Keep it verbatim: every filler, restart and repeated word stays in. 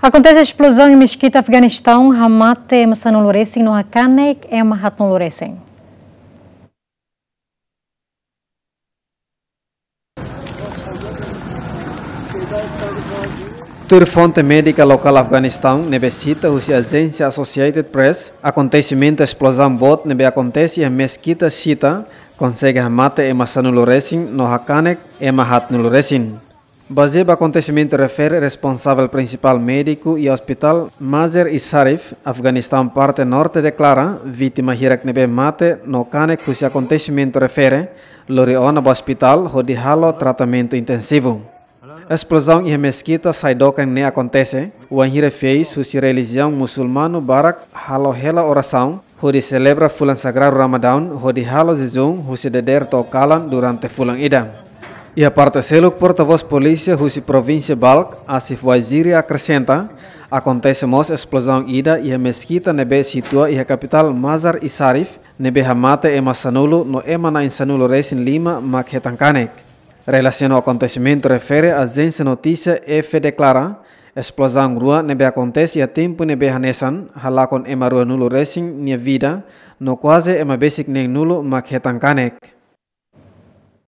Akontese esplozaun iha meskita Afeganistaun, hamate ema sanulu resin no hakanek ema haatnulu resin. Tuir fonte médika lokál Afeganistaun ne'ebé sita husi ajénsia Associated Press, akontesimentu esplozaun boot ne'ebé akontese iha meskita Shita konsege hamate ema sanulu resin no hakanek ema haatnulu resin. Bazeia ba akontesimentu refere, responsavel prinsipál médiku iha Ospitál Mazar-i-Sharif, Afeganistaun parte norte deklara, vítima hirak ne'ebé mate no kanek husi akontesimentu refere lori ona ba ospitál hodi halo tratamentu intensivu. Esplozaun iha meskita Saidokan ne'e akontese wainhira fiéis husi relijiaun musulmanu barak halo hela orasaun hodi selebra fulan sagradu Ramadán hodi halo jejún husi dadeer to'o kalan durante fulan ida. Iha parte seluk, portavós polísia husi provínsia Balkh, Asif Waziri, akresenta, akontese mós esplozaun ida iha meskita ne'ebé situa iha kapitál Mazar-i-Sharif, ne'ebé hamate ema sanulu no ema na'in sanulu resin lima mak hetan kanek. Relasiona ho akontesimentu refere, ajénsia notísia E F P deklara, esplozaun rua ne'ebé akontese iha tempu ne'ebé hanesan halakon ema ruanulu resin nia vida, no kuaze ema besik neenulu mak hetan kanek.